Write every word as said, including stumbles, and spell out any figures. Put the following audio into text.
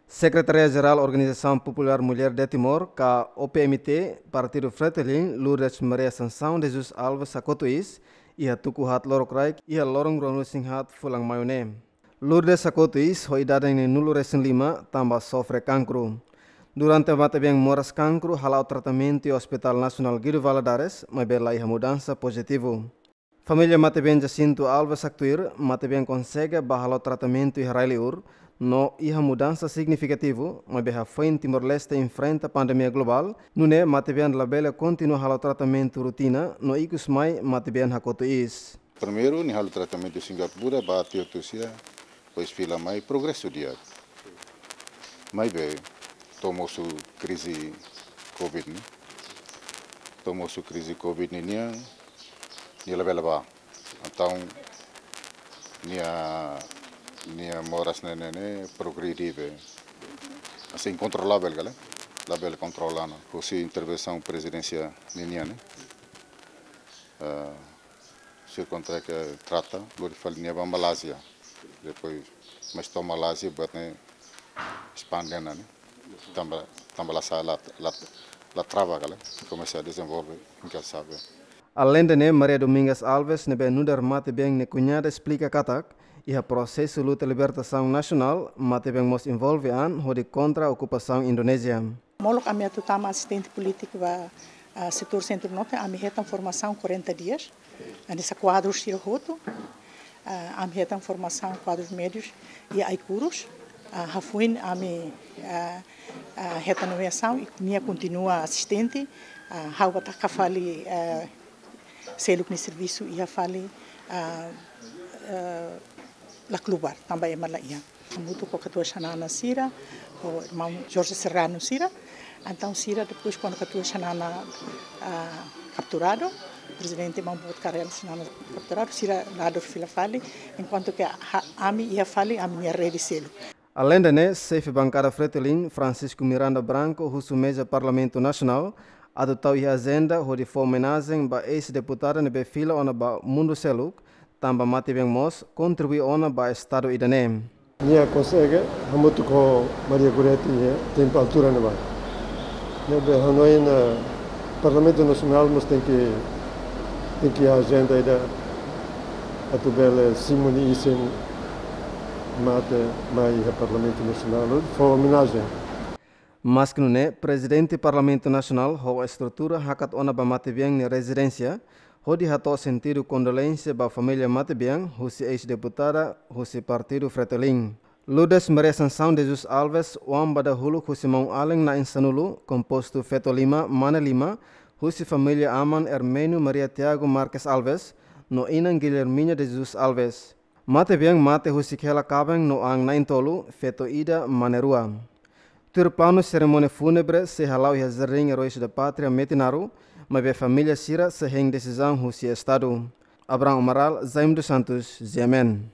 Sekretária Jerál Organizasaun Populár Mulher de Timor, ka O P M T, Partidu Fretilin, Lourdes Maria Assunção de Jesus Alves hakotu iis, iha tuku haat lorokraik, iha loron ruanulu-resin-haat fulan Maiu ne'e. Lourdes hakotu iis ho idade neenulu-resin-lima, tanba sofre kankru. Durante matebian moras kankru hala'o tratamentu iha Hospital Nasionál Guido Valadares, maibé la iha mudansa pozitivu. Família matebian Jacinto Alves haktuir, matebian konsege bá halo tratamentu iha rai-liur, no iha mudansa signifikativu, maibé hafoin Timor-Leste enfrenta pandemia globál, nune'e matebian labele kontinua halo tratamentu rotina, no ikus mai matebian hakotu iis. Primeiru, nia halo tratamentu Singapura, bá tiha hotu sira, depois fila mai, progresu di'ak. Maibé, to'o mosu krize covid ne'e. To'o mosu krize covid ne'e nian, nia labele bá. Entaun, nia, nia moras ne'e, ne'e, ne'e progride be. Assim, inkontrolavel, kale? Labele kontrola ona. Husi intervensaun prezidénsia ninian, ne'e? Eh, sira kontra ke trata, lori fali nia bá Malázia. Depois, mais to'o Malázia, buat ne'e espande ona, ne'e? Tanba, tanba la sa, la, la, la trava, kale? Komesa dezenvolve, inkansavel. Aleinde ne'e, Maria Domingas Alves, ne'ebé nu'udar matebian nia kuñada esplika katak, iha prosesu luta libertasaun nasionál, matebian mós envolve an hodi kontra okupasaun Indonézia. Molok ami atu tama asistente polítiku ba, ah, setór Sentru Norte, ami hetan formasaun quarenta dias. Hanesan kuadru sira hotu, ah, ami hetan formasaun kuadrus médius iha Aicurus. Ah, hafoin ami, ah, ah, hetan nomeasaun i nia kontinua asistente, ah, ha'u bá taka fali, ah, seluk nia servisu iha fali, ah, ah, la klubar, tanba ema la iha. Hamutuk ho katuas Xanana sira, ho irmaun Jorge Serrano sira. Entaun sira depois kuandu katuas Xanana, ah, kapturadu, prezidente irmaun Boot Karel Xanana kapturadu, sira la'o fila fali, enkuantu ke ha-, ami iha fali, ami-nia rede seluk. Aleinde ne'e, xefe bankada Fretilin, Francisco Miranda Branco, husu meza Parlamentu Nasionál, atu tau iha ajenda hodi fó omenajen ba eis-deputada ne'ebé fila ona ba mundu seluk, tanba matebian mós kontribui ona ba Estadu ida-ne'e. Nia konsege, hamutuk ho Maria Goretti, iha tempu altura ne'ebá. Ne'ebé hanoin, eh, Parlamentu Nasionál mós tenke, tenke iha ajenda ida atu bele simu nia isin mate mai iha Parlamentu Nasionál, fó omenajen. Maski nune'e, Prezidente Parlamentu Nasionál ho estrutura hakat ona ba matebian nia rezidénsia, hodi hato'o sentidu kondolénsia ba família matebian husi eis-deputada husi Partidu Fretilin. Lourdes Maria Assunção de Jesus Alves, oan ba dahuluk husi maun-alin na'in-sanulu, kompostu feto lima, mane lima, husi família aman Hermênio Maria Tiago Marques Alves, no inan Guilhermina de Jesus Alves. Matebian mate husik hela kaben no an na'in-tolu, feto ida, mane rua. Tuir planu, serimónia fúnebre sei hala'o iha Jardín Heróis da Pátria, Metinaro, maibé família sira sei hein desizaun husi Estadu. Abraham Amaral, Jaime dos Santos, G M N.